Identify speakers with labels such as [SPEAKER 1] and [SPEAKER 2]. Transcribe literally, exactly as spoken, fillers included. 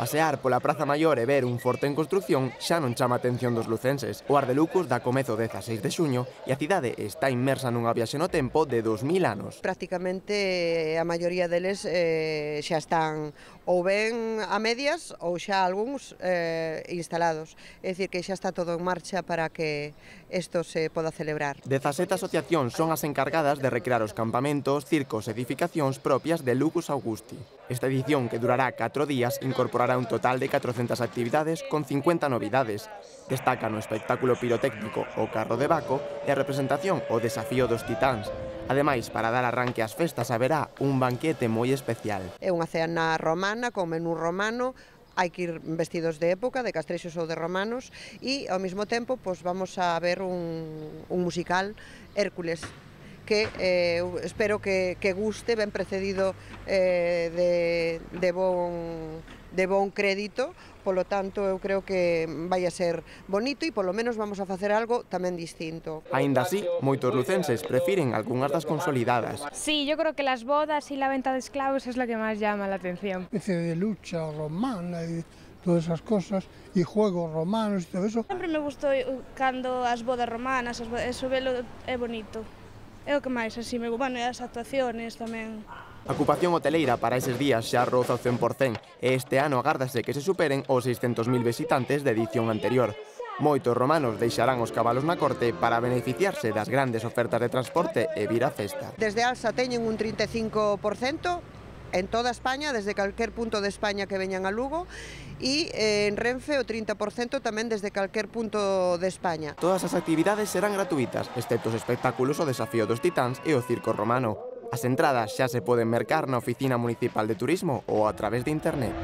[SPEAKER 1] Pasear pola Praza Maior e ver un forte en construción xa non chama a atención dos lucenses. O Ardelucos dá comezo o dezaseis de xuño e a cidade está inmersa nunha viaxe no tempo de dos mil anos.
[SPEAKER 2] Prácticamente a maioría deles eh, xa están ou ben a medias ou xa algúns eh, instalados. É dicir, que xa está todo en marcha para que isto se poda celebrar.
[SPEAKER 1] dezasete asociacións son as encargadas de recrear os campamentos, circos e edificacións propias de Lucus Augusti. Esta edición, que durará catro días, incorporará un total de catrocentas actividades con cincuenta novidades. Destacan o espectáculo pirotécnico O Carro de Baco e a representación O Desafío dos Titáns. Ademais, para dar arranque ás festas haberá un banquete moi especial.
[SPEAKER 2] É unha cena romana, con menú romano, hai que ir vestidos de época, de castrexos ou de romanos, e ao mesmo tempo pois, vamos a ver un, un musical, Hércules, que eh, espero que, que guste, ben precedido eh, de, de, bon, de bon crédito, polo tanto eu creo que vai a ser bonito e polo menos vamos a facer algo tamén distinto.
[SPEAKER 1] Aínda así, moitos lucenses prefiren algunhas das consolidadas.
[SPEAKER 3] Sí, yo creo que las bodas y la venta de esclavos es lo que más llama la atención.
[SPEAKER 4] Especie de lucha romana y todas esas cosas, y juegos romanos y todo eso.
[SPEAKER 5] Sempre me gustou cando as bodas romanas, as bodas, eso velo é bonito. É o que máis, así, me bueno, e as actuaciones tamén.
[SPEAKER 1] A ocupación hoteleira para eses días xa roza o cen por cen e este ano agárdase que se superen os seiscentos mil visitantes da edición anterior. Moitos romanos deixarán os cabalos na corte para beneficiarse das grandes ofertas de transporte e vir á festa.
[SPEAKER 2] Desde Alsa teñen un trinta e cinco por cento en toda España, desde calquer punto de España que veñan a Lugo, e eh, en Renfe o trinta por cento tamén desde calquer punto de España.
[SPEAKER 1] Todas as actividades serán gratuitas, excepto os espectáculos O Desafío dos Titáns e o Circo Romano. As entradas xa se poden mercar na Oficina Municipal de Turismo ou a través de internet.